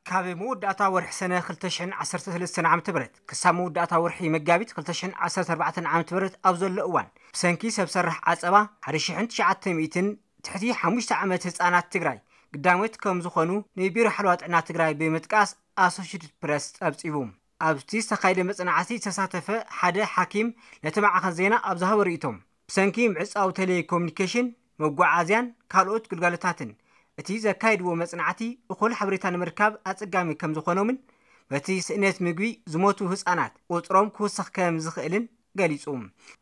ካብ መወዳእታ ወርሒ ሰነ ክልተ ሽሕን ዓሰርተ ሰለስተን ዓመተ ምህረት ክሳብ መወዳእታ ወርሒ መጋቢት ክልተ ሽሕን ዓሰርተ ኣርባዕተን ዓመተ ምህረት ኣብ ዘሎ እዋን፣ ብሰንኪ ሰብ ሰራሕ ዓጸባ ሓደ ሽሕን ትሽዓተ ሚእትን ትሕቲ ሓሙሽተ ዓመት ህጻናት ትግራይ ግዳሞት ከም ዝኾኑ ንቢሮ ሓለዋ ጥዕና ትግራይ ብምጥቃስ ኣሶሽትድ ፕረስ ጸብጺቡ። ኣብቲ ዝተኻየደ መጽናዕቲ ዝተሳተፈ ሓደ ሓኪም ነቲ ማዕኸን ዜና ኣብ ዝሃቦ ርእይቶ፣ ብሰንኪ ምዕጻው ቴሌኮሙኒኬሽን፣ መጓዓዝያን ካልኦት ግልጋሎታትን እቲ ዘካየድዎ መጽናዕቲ እኹል ሓበሬታ ንምርካብ ኣጸጋሚ ከም ዝኾኖምን በቲ ስእነት ምግቢ ዝሞቱ ህጻናት ቁጽሮም ክውስኽ ከም ዝኽእልን ገሊጹ።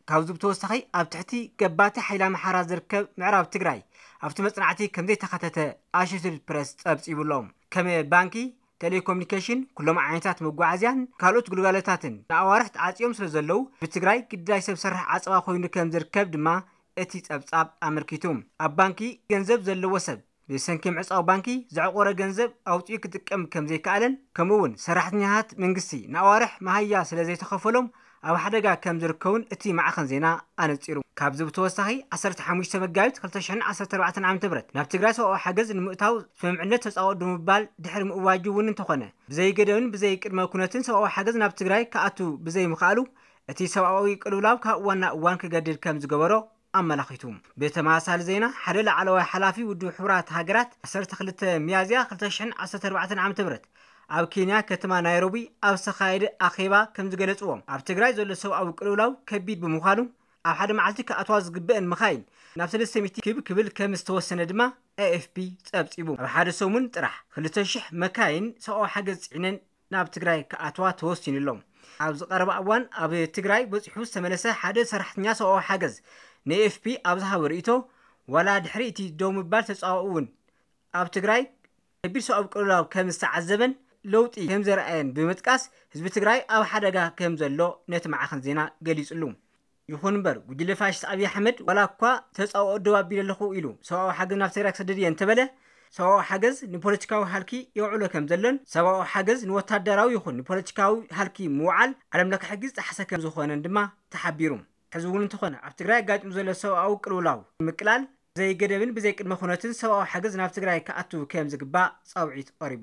ካብዚ ብተወሳኺ ኣብ ትሕቲ ገባቲ ሓይሊ ኣምሓራ ዝርከብ ምዕራብ ትግራይ ኣብቲ መጽናዕቲ ከም ዘይተኻተተ ኣሶሽየትድ ፕረስ ጸብጺቡ ኣሎ። ከም ባንኪ፣ ቴሌኮሙኒኬሽን፣ ኩሎም ዓይነታት መጓዓዝያን ካልኦት ግልጋሎታትን ንኣዋርሕ ተዓጽዮም ስለ ዘለዉ፣ ብትግራይ ግዳይ ሰብ ሰራሕ ዓጸባ ኮይኑ ከም ዝርከብ ድማ እቲ ጸብጻብ ኣመልኪቱ። ኣብ ባንኪ ገንዘብ ዘለዎ ሰብ ብሰንኪ ምዕጻው ባንኪ ዘዕቆረ ገንዘብ ኣውጺኡ ክጥቀም ከም ዘይከኣለን፣ ከምኡ እውን ሰራሕተኛታት መንግስቲ ንኣዋርሕ መሃያ ስለ ዘይተኸፈሎም ኣብ ሓደጋ ከም ዝርከቡን እቲ ማዕኸን ዜና ኣነጺሩ። ካብዚ ብተወሳኺ ዓሰርተ ሓሙሽተ መጋቢት ክልተ ሽሕን ዓሰርተ ኣርባዕተን ዓመተ ምህረት ናብ ትግራይ ሰብኣዊ ሓገዝ ንምእታው ስምምዕነት ተጻወት ብምባል ድሕሪ ምእዋጁ እውን እንተኾነ፣ ብዘይ ገደብን ብዘይ ቅድመ ኩነትን ሰብኣዊ ሓገዝ ናብ ትግራይ ክኣቱ ብዘይ ምኽኣሉ፣ እቲ ሰብኣዊ ቅልውላው ካብ እዋን ናብ እዋን ክገድድ ከም ዝገበሮ ኣመላኺቱ። ብተመሳሳሊ ዜና፣ ሓደ ላዕለዋይ ሓላፊ ውድብ ሕቡራት ሃገራት ዓሰርተ ክልተ ሚያዝያ ክልተ ሽሕን ዓሰርተ ኣርባዕተን ዓመተ ምህረት ኣብ ኬንያ ከተማ ናይሮቢ ኣብ ዝተኻየደ ኣኼባ ከም ዝገለጽዎ፣ ኣብ ትግራይ ዘሎ ሰብኣዊ ቅልውላው ከቢድ ብምዃኑ፣ ኣብ ሓደ መዓልቲ ክኣትዋ ዝግበአን መኻይን ናብ ሰለስተ ሚእቲ ክብ ክብል ከም ዝተወሰነ ድማ ኤ ኤፍ ፒ ጸብጺቡ። ኣብ ሓደ ሰሙን ጥራሕ ክልተ ሽሕ መካይን ሰብኣዊ ሓገዝ ጽዒነን ናብ ትግራይ ክኣትዋ ተወሲኑ ኣሎ። ኣብዚ ቀረባ እዋን ኣብ ትግራይ በጺሑ ዝተመለሰ ሓደ ሰራሕተኛ ሰብኣዊ ሓገዝ ን ኤ ኤፍ ፒ ኣብ ዝሃቦ ርእይቶ፣ ዋላ ድሕሪ እቲ ደው ምባል ተጻዋኡ እውን ኣብ ትግራይ ከቢድ ሰብኣዊ ቅልውላው ከም ዝተዓዘበን ለውጢ ከም ዘርኣየን ብምጥቃስ፣ ህዝቢ ትግራይ ኣብ ሓደጋ ከም ዘሎ ነቲ ማዕኸን ዜና ገሊጹሉ። ይኹን እምበር፣ ጉጅለ ፋሽስት ኣብይ ኣሕመድ ዋላ እኳ ተጻውኦ ደው ኣቢለ ኣለኹ ኢሉ ሰብኣዊ ሓገዝ ናብ ትግራይ ክሰድድ እየ እንተበለ፣ ሰብኣዊ ሓገዝ ንፖለቲካዊ ሃልኪ የውዕሎ ከም ዘሎን፣ ሰብኣዊ ሓገዝ ንወታደራዊ ይኹን ንፖለቲካዊ ሃልኪ ምውዓል ዓለም ለኸ ሕጊ ዝጠሓሰ ከም ዝኾነን ድማ ተሓቢሩ። ሕዚ እውን እንተኾነ፣ ኣብ ትግራይ ኣጋጢሙ ዘሎ ሰብኣዊ ቅልውላው ንምቅላል ብዘይ ገደብን ብዘይ ቅድመ ኩነትን ሰብኣዊ ሓገዝ ናብ ትግራይ ክኣቱ ከም ዝግባእ ጻውዒት ቀሪቡ።